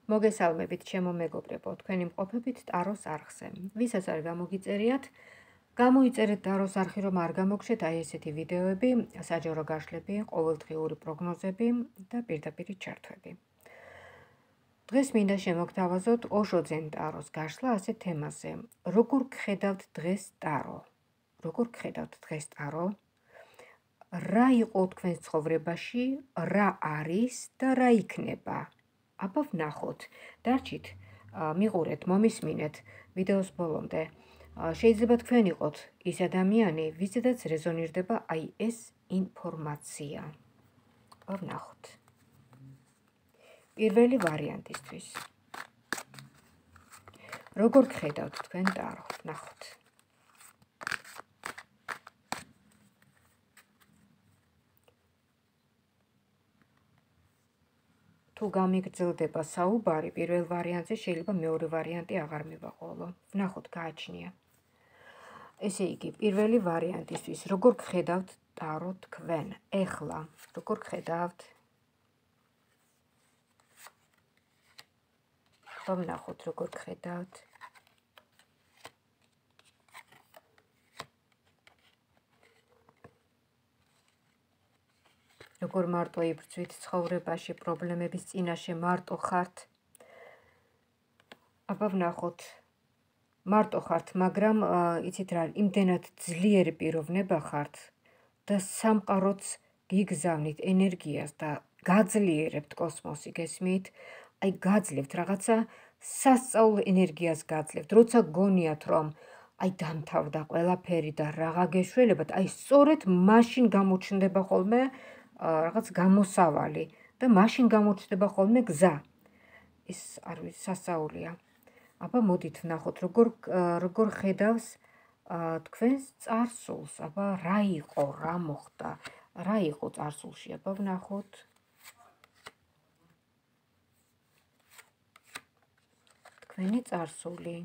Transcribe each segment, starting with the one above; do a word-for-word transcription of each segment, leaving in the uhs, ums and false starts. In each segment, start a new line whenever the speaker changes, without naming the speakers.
მოგესალმებით, ჩემო მეგობრებო, თქვენი მყოფებით ტაროს არხზე. ვისაც არ გამოგიწერიათ, გამოიწერეთ ტაროს არხი, რომ არ გამოგშეთ აი ესეთი ვიდეოები, საჯარო გაშლები, ყოველდღიური პროგნოზები და პირდაპირ ჩართვები. დღეს მინდა შემოგთავაზოთ ოშო ძენ ტაროს გაშლა ასეთ თემაზე. როგორ გხედავთ დღეს ტარო? როგორ გხედავთ დღეს ტარო? რა იყო თქვენს ცხოვრებაში, რა არის და რა იქნება? აბა ვნახოთ, დარჩით, მიყურეთ, მომისმინეთ ვიდეოს ბოლომდე. შეიძლება თქვენ იყოთ ის ადამიანი, ვიზედაც რეზონირდება აი ეს ინფორმაცია. აბა ვნახოთ. პირველი ვარიანტისთვის. როგორ გხედავთ თქვენ ტარო? ვნახოთ. თუ გამიგრძელდება საუბარი, პირველ ვარიანტზე შეიძლება მეორე ვარიანტი აღარ მივაყოლო. ვნახოთ, გააჩნია. ესე იგი, პირველი ვარიანტისთვის, როგორ გხედავთ ტარო თქვენ? ეხლა, როგორ გხედავთ? ვნახოთ, როგორ გხედავთ. როგორ მარტო იბრძვით ცხოვრებაში, პრობლემების წინაშე მარტო ხართ? აბა ვნახოთ. მარტო ხართ, მაგრამ იცით რა, იმდენად ძლიერი პიროვნება ხართ და სამყაროც გიგზავნით ენერგიას და გაძლიერებთ კოსმოსი, გესმით? აი გაძლევთ რაღაცა სასწაულ ენერგიას გაძლევთ, როცა გონიათ რომ აი დამთავრდა ყველაფერი და რაღა გეშველებათ, აი სწორედ მაშინ გამოჩნდება ხოლმე რაღაც გამოსავალი და მაშინ გამოჩნდება ხოლმე გზა. ეს არ ვიცი, სასწაულია. აბა მოდით ვნახოთ, როგორ როგორ ხედავს თქვენს წარსულს. აბა რა იყო, რა მოხდა, რა იყო წარსულში, აბა ვნახოთ. თქვენი წარსული.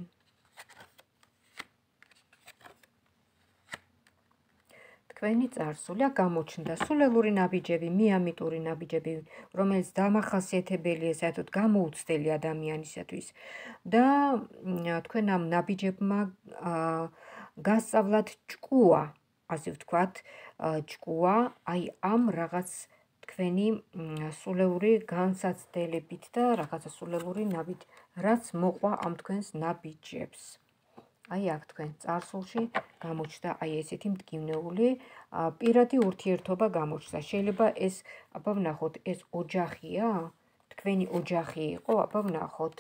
თქვენი წარსული გამოჩნდა სულელური ნაბიჯები, მიამიტური ნაბიჯები, რომელიც დამახასიათებელია საერთოდ გამოუცდელი ადამიანისათვის და თქვენ ამ ნაბიჯებმა გასწავლათ ჭკუა, ასე ვთქვათ, ჭკუა, აი ამ რაღაც თქვენი სულელური განსაცდელებით და რაღაცა სულელური ნაბიჯი, რაც მოყვა ამ თქვენს ნაბიჯებს. აი აქ თქვენ წარსულში გამოჩნდა აი ესეთი მტკივნეული პირადი ურთიერთობა გამოჩნდა. შეიძლება ეს, აბა ვნახოთ, ეს ოჯახია? თქვენი ოჯახი იყო? აბა ვნახოთ.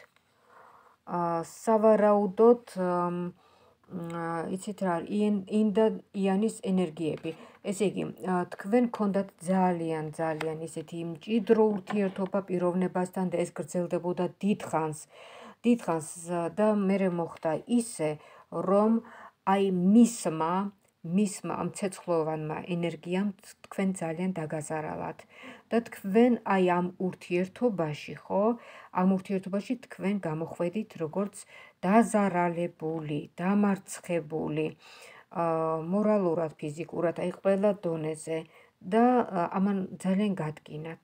სავარაუდოდ, იცით რა, ინ და იანის ენერგიები. ესე იგი, თქვენ გქონდათ ძალიან, ძალიან ისეთი მჭიდრო ურთიერთობა პიროვნებასთან და ეს გრძელდებოდა დიდხანს. დიდხანს და მერე მოხდა ისე, რომ აი მისმა, მისმა ამ ცეცხლოვანმა ენერგიამ თქვენ ძალიან დაგაზარალათ და თქვენ აი ამ ურთიერთობაში, ხო? ამ ურთიერთობაში თქვენ გამოხვედით როგორც დაზარალებული, დამარცხებული, მორალურად, ფიზიკურად, აი ყველა დონეზე და ამან ძალიან გადგინათ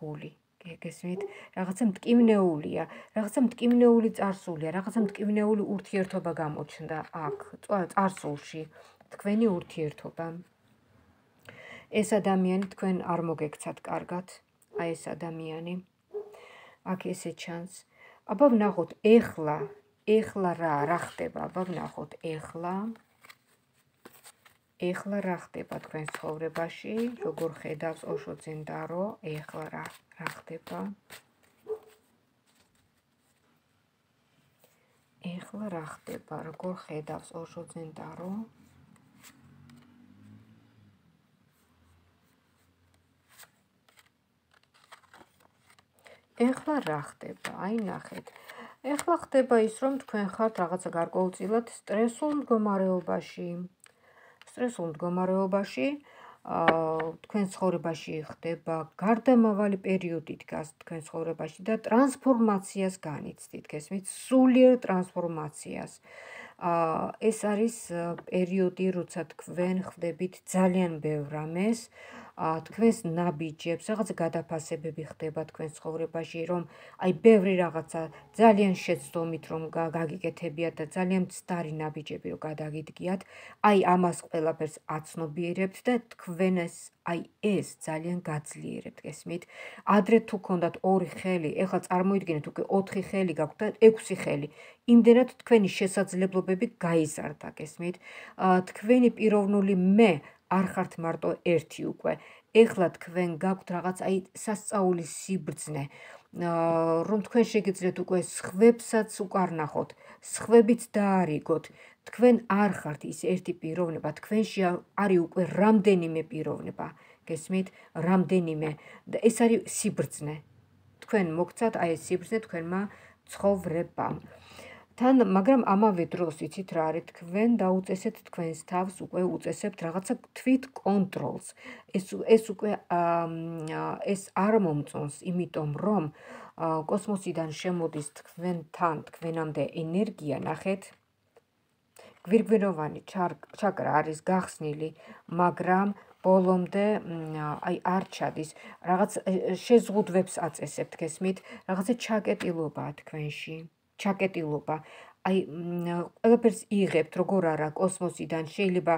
გული. გესმით? რაღაცა მტკივნეულია, რაღაცა მტკივნეული წარსულია, რაღაცა მტკივნეული ურთიერთობა გამოჩნდა აქ, წარსულში, თქვენი ურთიერთობა. ეს ადამიანი თქვენ არ მოგექცათ კარგად, აი ეს ადამიანი. აქ ესე ჩანს. აბა ვნახოთ, ეხლა, ეხლა რა, რა ხდება? აბა ვნახოთ, ეხლა. ეხლა რა ხდება თქვენ ცხოვრებაში? როგორ ხედავს ოშო ძენ ტარო? ეხლა რა, რა ხდება? ეხლა რა ხდება? როგორ ხედავს ოშო ძენ ტარო? ეხლა რა ხდება? აი ნახეთ. ეხლა ხდება ის, რომ თქვენ ხართ რაღაცა გარკვეულწილად სტრესულ მდგომარეობაში. სტრესულ მდგომარეობაში, თქვენ ცხოვრებაში ხდება გარდამავალი პერიოდი დგას თქვენ ცხოვრებაში და ტრანსფორმაციას განიცდით, გესმით? სულიერ ტრანსფორმაციას. ეს არის პერიოდი, როცა თქვენ ხდებით ძალიან ბევრ რამეს, თქვენს ნაბიჯებს, რაღაც გადაფასებები ხდება თქვენ ცხოვრებაში, რომ აი ბევრი რაღაცა ძალიან შეცდომით რომ გაგიკეთებიათ და ძალიან მცდარი ნაბიჯები რომ გადაგიდგიათ, აი ამას ყველაფერს აცნობიერებთ და თქვენ ეს აი ეს ძალიან გაძლიერებთ, გესმით? ადრე თუ გქონდათ ორი ხელი, ეხლა წარმოიდგინეთ უკვე ოთხი ხელი გაქვთ და ექვსი ხელი. იმდენად თქვენი შესაძლებლობები გაიზარდა, გესმით? თქვენი პიროვნული მე არ ხართ მარტო ერთი უკვე. ეხლა თქვენ გაქვთ რაღაც აი სასწაულის სიბრძნე, რომ თქვენ შეგიძლიათ უკვე სხვებსაც უკარნახოთ, სხვებიც დაარიგოთ. თქვენ არ ხართ ის ერთი პიროვნება, თქვენში არის უკვე რამდენიმე პიროვნება, გესმით? რამდენიმე და ეს არის სიბრძნე. თქვენ მოგცათ აი ეს სიბრძნე თქვენმა ცხოვრებამ. თან, მაგრამ ამავე დროს იცით რა არის, თქვენ დაუწესეთ თქვენს თავს, უკვე უწესებთ რაღაცა თვით კონტროლს. ეს ეს უკვე ეს არ მომწონს, იმიტომ რომ კოსმოსიდან შემოდის თქვენთან, თქვენამდე ენერგია, ნახეთ. გვირგვინოვანი ჩაკრა არის გახსნილი, მაგრამ ბოლომდე აი არ ჩადის. რაღაც შეზღუდვებს აწესებთ, გესმით? რაღაცა ჩაკეტილობაა თქვენში. ჩაკეტილობა. აი ყველაფერს იღებთ, როგორ არა, კოსმოსიდან შეიძლება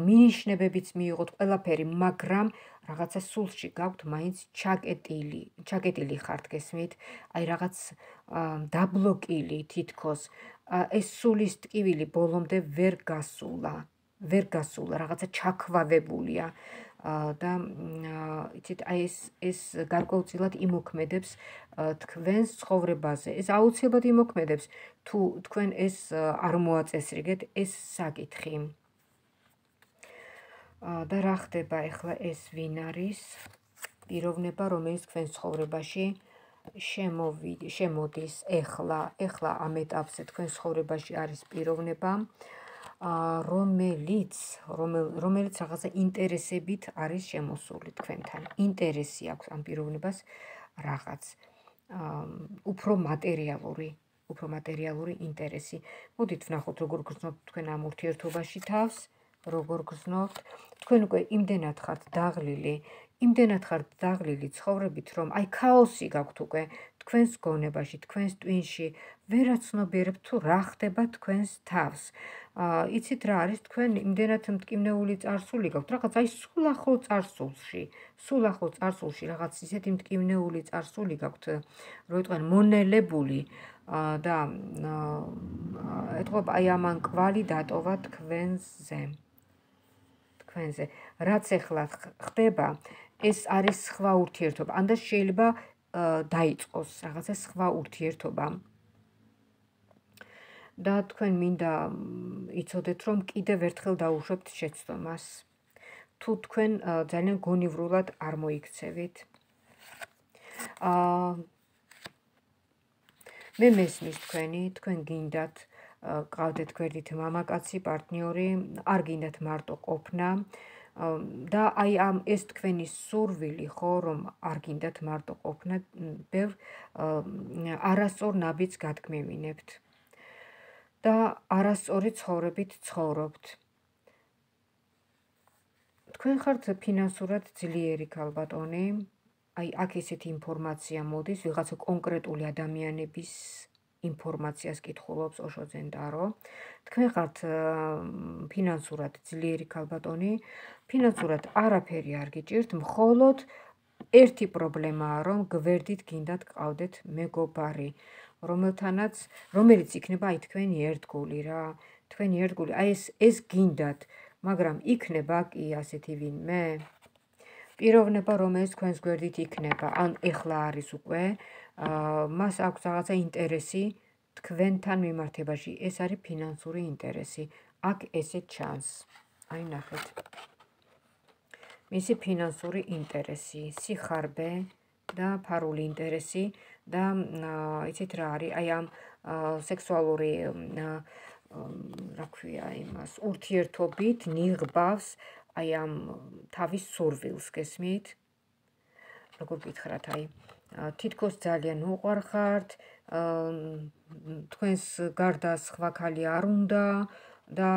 მინიშნებებიც მიიღოთ ყველაფერი, მაგრამ რაღაცა სულში გაქვთ მაინც ჩაკეტილი, ჩაკეტილი ხართ, გესმით? აი რაღაც დაბლოკილი თითქოს. ეს სულის ტკივილი ბოლომდე ვერ გასულა, ვერ გასულა, რაღაცა ჩაქვავებულია და იცით, აი ეს ეს გარკვეულწილად იმოქმედებს თქვენს ცხოვრებაზე. ეს აუცილებლად იმოქმედებს, თუ თქვენ ეს არ მოაწესრიგეთ, ეს საკითხი. და რა ხდება ახლა ეს ვინ არის? პიროვნება, რომელიც თქვენ ცხოვრებაში შემოვიდი, შემოდის ეხლა, ეხლა ამ ეტაპზე თქვენ ცხოვრებაში არის პიროვნება, რომელიც რომელიც რაღაცა ინტერესებით არის შემოსული თქვენთან. ინტერესი აქვს ამ პიროვნებას რაღაც უფრო მატერიალური, უფრო მატერიალური ინტერესი. მოდით ვნახოთ, როგორ გრძნობთ თქვენ ამ ურთიერთობაში თავს, როგორ გრძნობთ. თქვენ უკვე იმდენად ხართ დაღლილი, იმდენად ხართ დაღლილი ცხოვრებით, რომ აი ქაოსი გაქვთ უკვე თქვენს გონებაში, თქვენს ტვინში, ვერ აცნობიერებთ თუ რა ხდება თქვენს თავს. იცით რა არის, თქვენ იმდენად მტკივნეული წარსული გაქვთ, რაღაც აი სულ ახლო წარსულში, სულ ახლო წარსულში რაღაც ისეთი მტკივნეული წარსული გაქვთ, რო იტყვიან მონელებული და ეთქობა აი ამან კვალი დატოვა თქვენზე. თქვენზე. რაც ახლა ხდება, ეს არის სხვა ურთიერთობა. ანდაც შეიძლება დაიწყოს რაღაცა სხვა ურთიერთობა. და თქვენ მინდა იცოდეთ, რომ კიდევ ერთხელ დაუშვებთ შეცდომას. თუ თქვენ ძალიან გონივრულად არ მოიქცევით. მე მესმის თქვენი, თქვენ გინდათ ყავდეთ გვერდით მამაკაცი, პარტნიორი, არ გინდათ მარტო ყოფნა. და აი ამ ეს თქვენი სურვილი ხო, რომ არ გინდათ მარტო ყოფნა, ბევრ არასწორ ნაბიჯს გადგმევინებთ. და არასწორი ცხოვრებით ცხოვრობთ. თქვენ ხართ ფინანსურად ძლიერი ქალბატონი, აი აქ ესეთი ინფორმაცია მოდის, ვიღაცა კონკრეტული ადამიანების ინფორმაციას კითხულობს ოშოძენ დარო. თქვენ ხართ ფინანსურად ძლიერი ქალბატონი, ფინანსურად არაფერი არ გიჭირთ, მხოლოდ ერთი პრობლემაა, რომ გვერდით გინდათ გყავდეთ მეგობარი, რომელთანაც, რომელიც იქნება აი თქვენი ერთგული რა, თქვენი ერთგული, აი ეს ეს გინდათ, მაგრამ იქნება კი ასეთი ვინმე? პიროვნება, რომელიც თქვენს გვერდით იქნება, ან ეხლა არის უკვე, მას აქვს რაღაცა ინტერესი თქვენთან მიმართებაში, ეს არის ფინანსური ინტერესი. აქ ესე ჩანს. აი ნახეთ. მისი ფინანსური ინტერესი, სიხარბე და ფარული ინტერესი და იცით რა არის, აი ამ სექსუალური რა ქვია იმას, ურთიერთობით ნიღბავს აი ამ თავის სურვილს, გესმით? როგორ გითხრათ, აი თითქოს ძალიან უყვარხართ, თქვენს გარდა სხვა ქალი არ უნდა და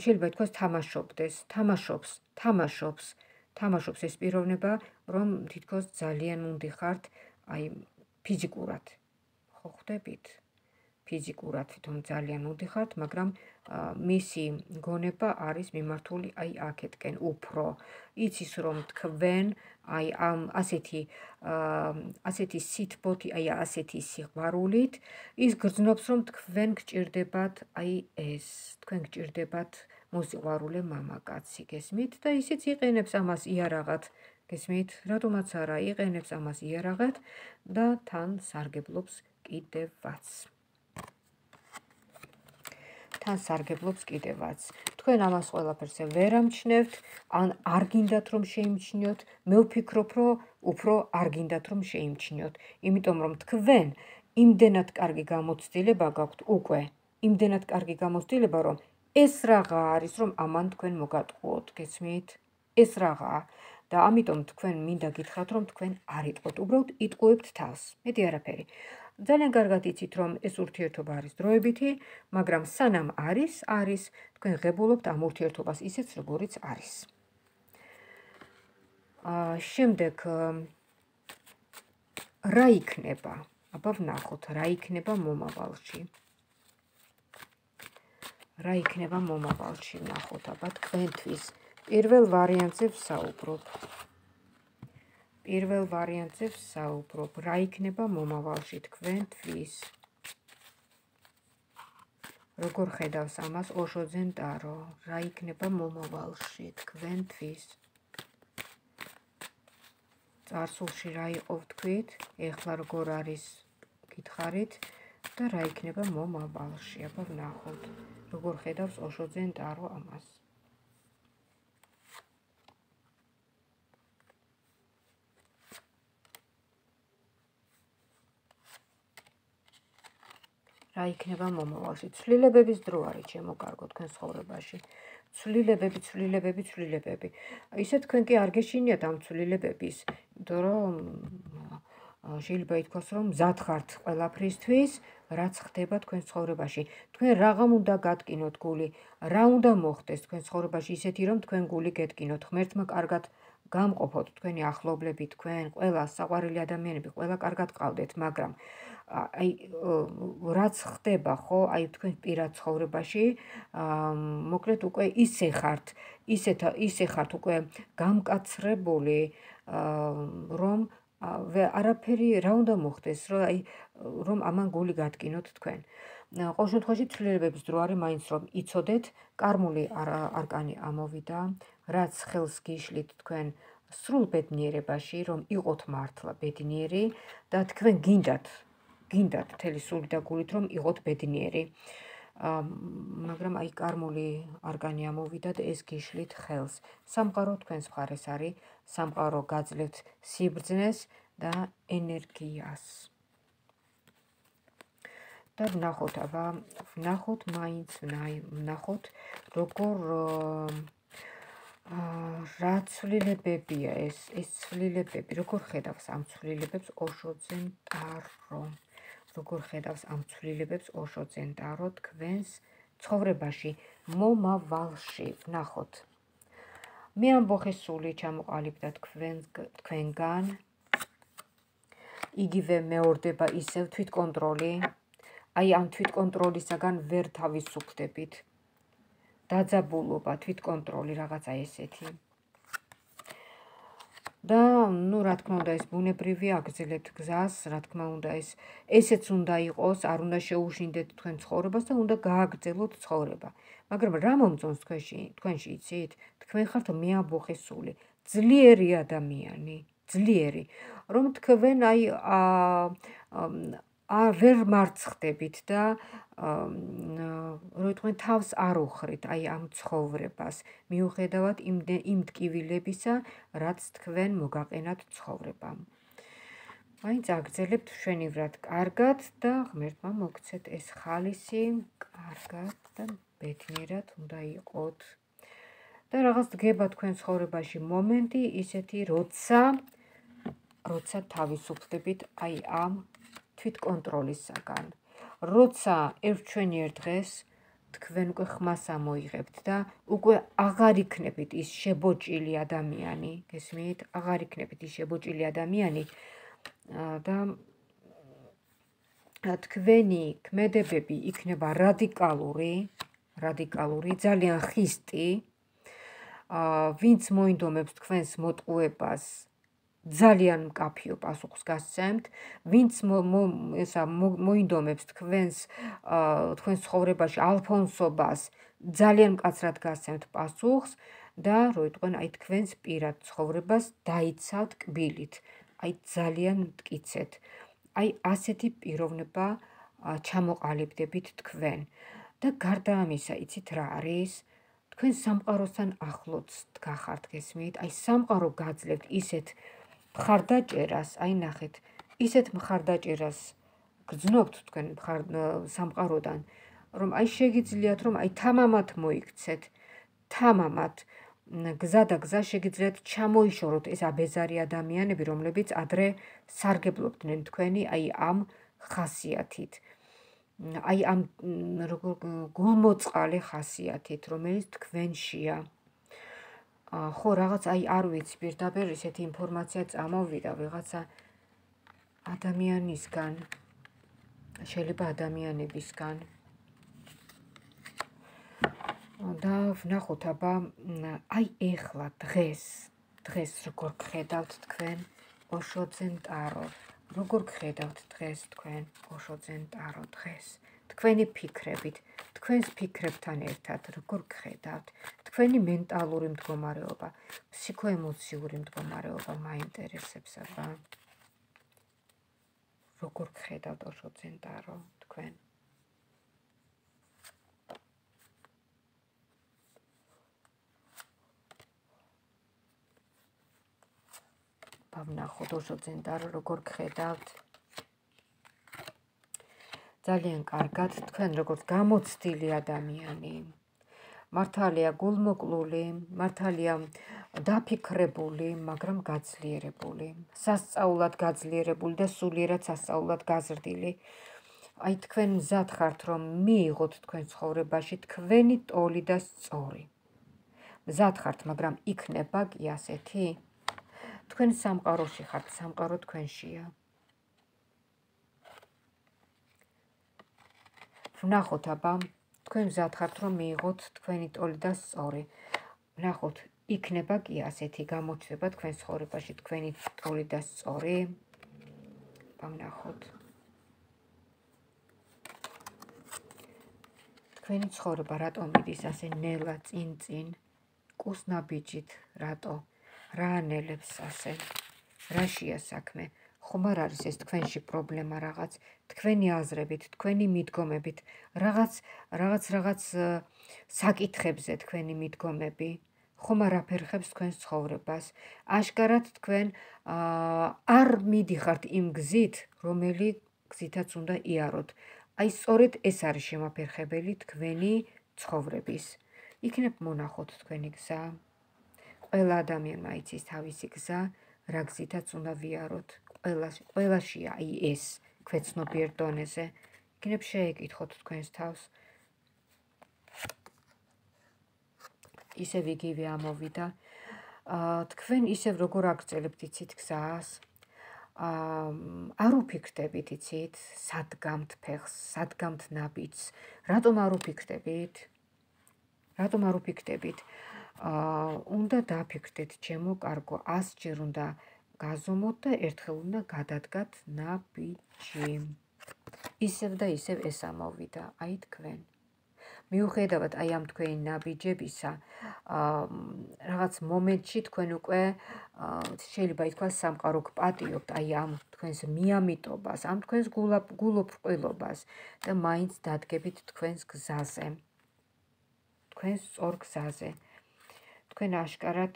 შეიძლება ითქვას თამაშობდეს, თამაშობს, თამაშობს, თამაშობს ეს პიროვნება, რომ თითქოს ძალიან უნდი ხართ, აი ფიზიკურად. ხო ხვდებით? ფიზიკურად თვითონ ძალიან უნდი ხართ, მაგრამ მისი გონება არის მიმართული აი აქეთკენ უფრო. იცის რომ თქვენ აი ამ ასეთი ასეთი სითბოთი, აი ასეთი სიყვარულით ის გრძნობს რომ თქვენ გჭირდებათ აი ეს, თქვენ გჭირდებათ მოსიყვარულე მამაკაცი, გესმით? და ისიც იყენებს ამას იარაღად, გესმით? რატომაც არა, იყენებს ამას იარაღად და თან სარგებლობს კიდევაც. თან სარგებლობს კიდევაც. თქვენ ამას ყველაფერს ვერ ამჩნევთ, ან არ გინდათ რომ შეიმჩნიოთ, მე ვფიქრობ, რომ უფრო არ გინდათ რომ შეიმჩნიოთ, იმიტომ რომ თქვენ იმდენად კარგი გამოცდილება გაქვთ უკვე, იმდენად კარგი გამოცდილება, რომ ეს რაღა არის, რომ ამან თქვენ მოგატყუოთ, გესმით? ეს რაღაცა და ამიტომ თქვენ მინდა გითხრათ, რომ თქვენ არ იტყოთ, უბრალოდ იტყუებთ თავს, მეტი არაფერი. ძალიან კარგად იცით, რომ ეს ურთიერთობა არის დროებითი, მაგრამ სანამ არის, არის, თქვენ ღებულობთ ამ ურთიერთობას ისეც, როგორიც არის. შემდეგ რა იქნება? აბა ვნახოთ, რა იქნება მომავალში. რა იქნება მომავალში, ვნახოთ, აბა თქვენთვის. პირველ ვარიანტზე ვსაუბრობ. პირველ ვარიანტზე ვსაუბრობ. რა იქნება მომავალში თქვენთვის? როგორ ხედავს ამას ოშოძე ნტარო? რა იქნება მომავალში თქვენთვის? წარსულში რა იყო ვთქვით? ეხლა როგორ არის გითხარით და რა იქნება მომავალში? აბა ვნახოთ. როგორ ხედავს ოშოძე ნტარო ამას? რა იქნება მომავალში? ცვლილებების დრო არის ჩემო კარგო თქვენ ცხოვრებაში. ცვლილებები, ცვლილებები, ცვლილებები. ისე თქვენ კი არ გეშინიათ ამ ცვლილებების, იმიტომ რომ შეიძლება ითქვას, რომ მზად ხართ ყველაფრისთვის, რაც ხდება თქვენ ცხოვრებაში. თქვენ რაღაცა უნდა გატკინოთ გული, რა უნდა მოხდეს თქვენ ცხოვრებაში ისეთი, რომ თქვენ გული გეტკინოთ, ღმერთმა კარგად გამყოფოთ თქვენი ახლობლები, თქვენ, ყველა საყვარელი ადამიანები, ყველა კარგად ყავდეთ, მაგრამ აი რაც ხდება, ხო, აი თქვენ პირად ცხოვრებაში, მოკლედ უკვე ისე ხართ, ისეთ ისე ხართ უკვე გამკაცრებული, რომ არაფერი რა უნდა მოხდეს, რომ აი რომ ამან გული გატკინოთ თქვენ. ყოველ შემთხვევაში ცვლილებების დრო არის მაინც რომ იცოდეთ, კარმული არკანი ამოვიდა, რაც ხელს გიშლით თქვენ სრულ ბედნიერებაში, რომ იყოთ მართლა ბედნიერი და თქვენ გინდათ გინდათ მთელი სული და გულით რომ იყოთ ბედნიერი. მაგრამ აი კარმული არკანი ამოვიდა და ეს გიშლით ხელს. სამყარო თქვენს მხარეს არის, სამყარო გაძლევთ სიბრძნეს და ენერგიას. და ვნახოთ, აბა ვნახოთ მაინც, ვნახოთ როგორ რა ცვლილებებია ეს, ეს ცვლილებები, როგორ ხედავს ამ ცვლილებებს ოშოძე ნტარო. როგორ ხედავს ამ ცვლილებებს ოშოძე ნტარო თქვენს ცხოვრებაში, მომავალში, ვნახოთ. მე ამბოხე სული ჩამოყალიბდა თქვენგან, იგივე მეორდება ისევ თვითკონტროლი, აი ამ თვითკონტროლისაგან ვერ თავისუფლდებით. დაძაბულობა, თვითკონტროლი, რაღაცა ესეთი. და ნუ რა თქმა უნდა ეს ბუნებრივი აგრძელებთ გზას, რა თქმა უნდა ეს ესეც უნდა იყოს, არ უნდა შეუშინდეთ თქვენ ცხოვრებას და უნდა გააგრძელოთ ცხოვრება. მაგრამ რა მომწონს თქვენში, თქვენში იცით? თქვენ ხართ მეამბოხე სული, ძლიერი ადამიანი, ძლიერი, რომ თქვენ აი ვერ მარცხდებით და რომ თქვენ თავს არ უხრით აი ამ ცხოვრებას, მიუხედავად იმ ტკივილებისა, რაც თქვენ მოგაყენათ ცხოვრებამ. მაინც აგრძელებთ მშვენივრად კარგად და ღმერთმა მოგცეთ ეს ხალისი, კარგად და ბედნიერად უნდა იყოთ. და რაღაც დგება თქვენ ცხოვრებაში მომენტი ისეთი, როცა როცა თავისუფლდებით აი ამ თვითკონტროლისაგან. როცა ერთჩვენიერ დღეს თქვენ უკვე ხმას ამოიღებთ და უკვე აღარ იქნებით ის შებოჭილი ადამიანი, გესმით? აღარ იქნებით ის შებოჭილი ადამიანი და თქვენი ქმედებები იქნება რადიკალური, რადიკალური, ძალიან ხისტი, ვინც მოინდომებს თქვენს მოტყუებას, ძალიან მკაფიო პასუხს გასცემთ, ვინც ესა მოინდომებს თქვენს თქვენს ცხოვრებაში ალფონსობას, ძალიან მკაცრად გასცემთ პასუხს და რო იტყვენ აი თქვენს პირად ცხოვრებას დაიცავთ კბილით, აი ძალიან მტკიცეთ. აი ასეთი პიროვნება ჩამოყალიბდებით თქვენ და გარდა ამისა, იცით რა არის? თქვენ სამყაროსთან ახლოც გახართ, გესმით? აი სამყარო გაძლევთ ისეთ მხარდაჭერას, აი ნახეთ, ისეთ მხარდაჭერას გრძნობთ თქვენ სამყაროდან, რომ აი შეგიძლიათ, რომ აი თამამად მოიქცეთ, თამამად გზა და გზა შეგიძლიათ ჩამოიშოროთ ეს აბეზარი ადამიანები, რომლებიც ადრე სარგებლობდნენ თქვენი აი ამ ხასიათით, აი ამ როგორ გულმოწყალე ხასიათით, რომელიც თქვენშია. ხო, რაღაც აი არ ვიცი, პირდაპირ ისეთი ინფორმაცია წამოვიდა ვიღაცა ადამიანისგან, შეიძლება ადამიანებისგან. და ვნახოთ აბა, აი ეხლა დღეს, დღეს როგორ გხედავთ თქვენ ოშოძენ ტარო, როგორ გხედავთ დღეს თქვენ ოშოძენ ტარო დღეს, თქვენი ფიქრებით, თქვენს ფიქრებთან ერთად როგორ გხედავთ, თქვენი მენტალური მდგომარეობა, ფსიქოემოციური მდგომარეობა მაინტერესებს აბა. როგორ გხედავთ ოშოძენ ტარო თქვენ? ვნახოთ ოშოძენ ტარო როგორ გხედავთ. ძალიან კარგად, თქვენ როგორც გამოცდილი ადამიანი, მართალია გულმოკლული, მართალია დაფიქრებული, მაგრამ გაძლიერებული, სასწაულად გაძლიერებული და სულიერად სასწაულად გაზრდილი. აი თქვენ მზად ხართ, რომ მიიღოთ თქვენ ცხოვრებაში თქვენი ტოლი და სწორი. მზად ხართ, მაგრამ იქნება კი ასეთი? თქვენ სამყაროში ხართ, სამყარო თქვენშია. ვნახოთ აბა, თქვენ მზად ხართ, რომ მიიღოთ თქვენი ტოლი და სწორი. ვნახოთ, იქნება კი ასეთი გამოჩნდება თქვენ ცხოვრებაში თქვენი ტოლი და სწორი. ვნახოთ. თქვენი ცხოვრება რატომ მიდის ასე ნელა წინ-წინ, კუსნაბიჯით, რატო? რა ანელებს ასე? რაშია საქმე? ხომ არ არის ეს თქვენში პრობლემა რაღაც, თქვენი აზრებით, თქვენი მიდგომებით, რაღაც რაღაც რაღაც საკითხებზე თქვენი მიდგომები, ხომ არ აფერხებს თქვენს ცხოვრებას? აშკარად თქვენ არ მიდიხართ იმ გზით, რომელი გზითაც უნდა იაროთ. აი სწორედ ეს არის შემაფერხებელი თქვენი ცხოვრების. იქნებ მონახოთ თქვენი გზა. ყველა ადამიანმა იცის თავისი გზა, რა გზითაც უნდა ვიაროთ. ყველაშია აი ეს ქვეცნობიერ დონეზე. იქნებ შეეკითხოთ თქვენს თავს. ისევ იგივე ამოვიდა. თქვენ ისევ როგორ აგრძელებთ იცით გზას? არ უფიქრდებით იცით, სად გამთ ფეხს, სად გამთ ნაბიჯს. რატომ არ უფიქრდებით? რატომ არ უფიქრდებით? უნდა დაფიქრდეთ, ჩემო კარგო, ასჯერ უნდა გაზომოთ და ერთხელ უნდა გადადგათ ნაბიჯი. ისევ და ისევ ეს ამოვიდა, აი თქვენ. მიუხედავად აი ამ თქვენი ნაბიჯებისა, რაღაც მომენტში თქვენ უკვე შეიძლება ითქვას სამყარო გპატიობთ აი ამ თქვენს მიამიტობას, ამ თქვენს გულოფრყვილობას და მაინც დადგებით თქვენს გზაზე, თქვენს სწორ გზაზე. თქვენ აშკარად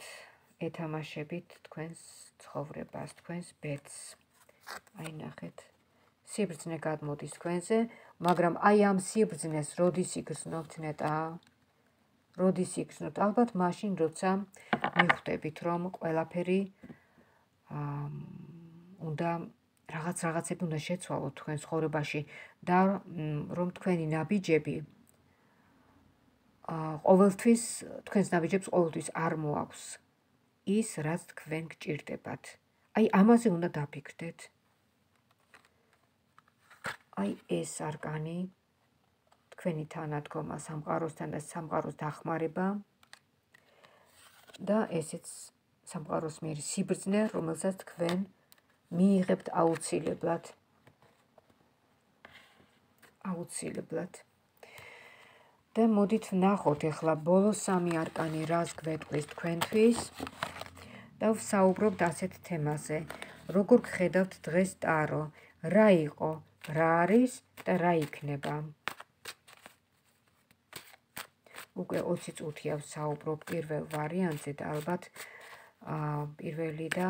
ეთამაშებით თქვენს ცხოვრებას, თქვენს ბედს. აი ნახეთ, სიბრძნე გადმოდის თქვენზე, მაგრამ აი ამ სიბრძნეს როდის იგრძნობთ ნეტა? როდის იგრძნობთ? ალბათ მაშინ, როცა მიხვდებით, რომ ყველაფერი უნდა რაღაც რაღაცები უნდა შეცვალოთ თქვენ ცხოვრებაში და რომ თქვენი ნაბიჯები ყოველთვის თქვენს ნაბიჯებს ყოველთვის არ მოაქვს ის, რაც თქვენ გჭირდებათ. აი ამაზე უნდა დაფიქრდეთ. აი ეს არკანი თქვენი თანადგომა სამყაროსთან და სამყაროს დახმარება და ესეც სამყაროს მიერ სიბრძნე, რომელსაც თქვენ მიიღებთ აუცილებლად. აუცილებლად. და მოდით ვნახოთ ახლა ბოლო სამი არკანი რას გვეტყვის თქვენთვის და ვსაუბრობთ ასეთ თემაზე. როგორ გხედავთ დღეს ტარო? რა იყო, რა არის და რა იქნება? უკვე ოცი წუთია ვსაუბრობ პირველ ვარიანტზე და ალბათ პირველი და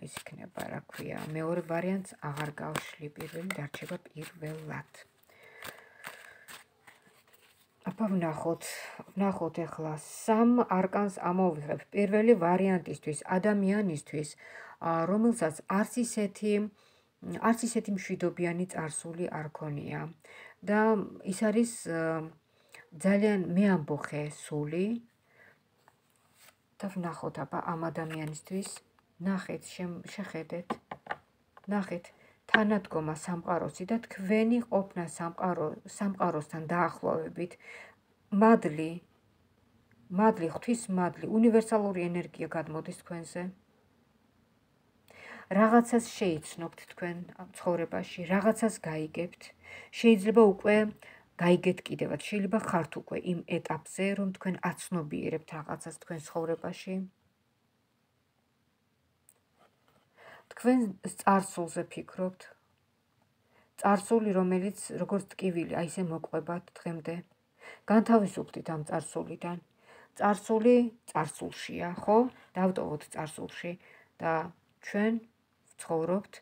ის იქნება, რა ქვია, მეორე ვარიანტს აღარ გავშლი, პირველი დარჩება პირველად. აბა ვნახოთ, ვნახოთ ახლა სამ არკანს ამოვიღებ. პირველი ვარიანტისთვის, ადამიანისთვის, რომელსაც არც ისეთი არც ისეთი მშვიდობიანი წარსული არ ქონია და ის არის ძალიან მეამბოხე სული და ვნახოთ აბა ამ ადამიანისთვის, ნახეთ, შეხედეთ, ნახეთ თანადგომა სამყაროსი და თქვენი ყოფნა სამყაროსთან დაახლოვებით, მადლი, მადლი, ღვთის მადლი, უნივერსალური ენერგია გადმოდის თქვენზე. რაღაცას შეიცნობთ თქვენ ცხოვრებაში, რაღაცას გაიგებთ, შეიძლება უკვე გაიგეთ კიდევაც, შეიძლება ხართ უკვე იმ ეტაპზე, რომ თქვენ აცნობიერებთ რაღაცას თქვენ ცხოვრებაში. თქვენ წარსულზე ფიქრობთ, წარსული, რომელიც როგორც ტკივილი, აი ესე მოყვებათ დღემდე. განთავისუფლდით ამ წარსულიდან. წარსული წარსულშია, ხო? დავტოვოთ წარსულში და ჩვენ ვცხოვრობთ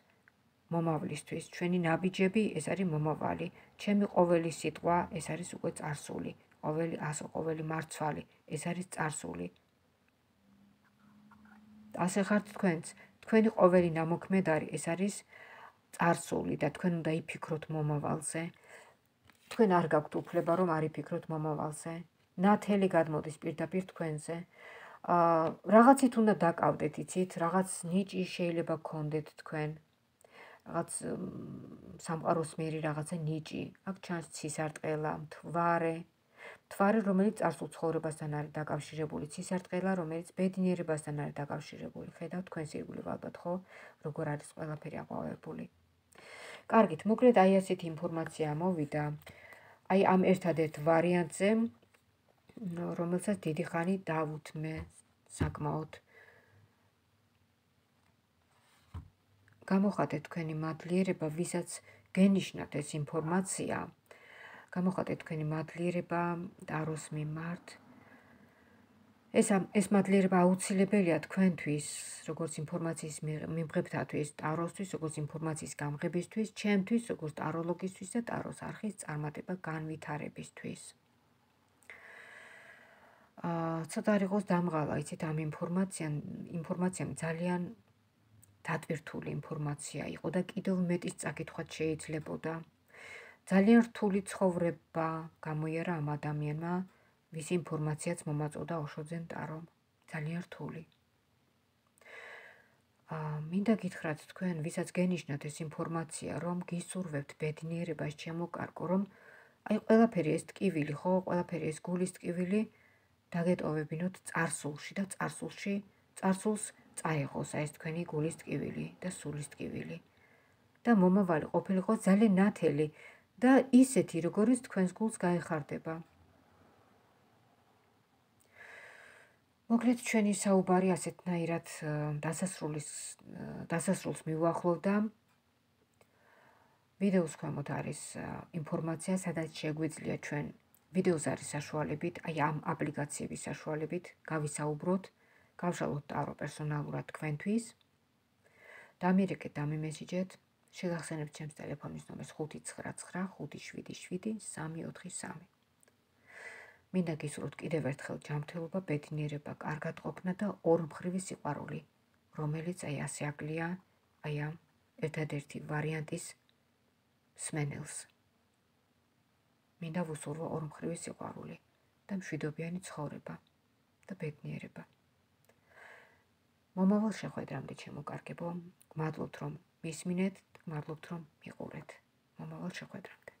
მომავლისთვის. ჩვენი ნაბიჯები ეს არის მომავალი. ჩემი ყოველი სიტყვა ეს არის უკვე წარსული. ყოველი ასო, ყოველი მარცვალი ეს არის წარსული. ასე ხართ თქვენც. თქვენი ყოველი ნამოქმედარი ეს არის წარსული და თქვენ უნდა იფიქროთ მომავალზე. თქვენ არ გაქვთ უფლება რომ არ იფიქროთ მომავალზე. ნათელი გადმოდის პირდაპირ თქვენზე. რაღაცით უნდა დაკავდეთ, იცით, რაღაც ნიჭი შეიძლება გქონდეთ თქვენ. რაღაც სამყაროს მიერი რაღაცა ნიჭი. აქ ჩანს ცისარტყელა, მთვარე. მთვარე, რომელიც წარსულ ცხოვრებასთან არის დაკავშირებული, ცისარტყელა, რომელიც ბედნიერებასთან არის დაკავშირებული. ხედავთ თქვენს ირგვლივ ალბათ, ხო? როგორ არის ყველაფერი აყვავებული. კარგით, მოკლედ აი ასეთი ინფორმაცია მოვიდა. აი ამ ერთადერთ ვარიანტზე, რომელსაც დიდი ხანი დავუთმე საკმაოდ. გამოხატეთ თქვენი მადლიერება, ვისაც გენიშნათ ეს ინფორმაცია. გამოხატეთ თქვენი მადლიერება ტაროს მიმართ. ეს ეს მადლიერება აუცილებელია თქვენთვის, როგორც ინფორმაციის მიმღებთათვის, ტაროსთვის, როგორც ინფორმაციის გამღებისთვის, ჩემთვის, როგორც ტაროლოგისთვის და ტაროს არხის წარმატება განვითარებისთვის. აა, ცოტა არ იყოს დამღალა, იცით, ამ ინფორმაციამ, ინფორმაციამ ძალიან დატვირთული ინფორმაცია იყო და კიდევ მეტის წაკითხვაც შეიძლებოდა. ძალიან რთული ცხოვრება გამოიარა ამ ადამიანმა, ვის ინფორმაციაც მომაწოდა ოშოძენ ტარომ. ძალიან რთული. აა, მინდა გითხრათ თქვენ, ვისაც გენიშნათ ეს ინფორმაცია, რომ გისურვებთ ბედნიერებას შემოკარგო, რომ აი ყველაფერი ეს ტკივილი, ხო, ყველაფერი ეს გულის ტკივილი დაგეტოვებინოთ წარსულში და წარსულში, წარსულს წაიღოს ეს თქვენი გულის ტკივილი და სულის ტკივილი. და მომავალი ყოფილიყო ძალიან ნათელი და ისეთი, როგორც თქვენს გულს გაეხარდება. მოკლედ ჩვენი საუბარი ასეთნაირად დასასრულის დასასრულს მივუახლოვდა. ვიდეოს ქვემოთ არის ინფორმაცია, სადაც შეგვიძლია ჩვენ ვიდეოს არის საშუალებით, აი ამ აპლიკაციების საშუალებით გავისაუბროთ, გავშალოთ ტარო პერსონალურად თქვენთვის. დამირეკეთ, დამიმესიჯეთ, შეგახსენებთ ჩემს ტელეფონის ნომერს ხუთი ცხრა ცხრა ხუთი შვიდი შვიდი სამი ოთხი სამი. მინდა გისურვოთ კიდევ ერთხელ ჯანმრთელობა, ბედნიერება, კარგად ყოფნა და ორმხრივი სიყვარული, რომელიც აი ასე აკლია აი ამ ერთადერთი ვარიანტის მსმენელს. მინდა ვუსურვო ორმხრივი სიყვარული. და მშვიდობიანი ცხოვრება და ბედნიერება. მომავალ შეხვედრამდე ჩემო კარგებო, გმადლობთ რომ მისმინეთ, გმადლობთ რომ მიყურეთ. მომავალ შეხვედრამდე.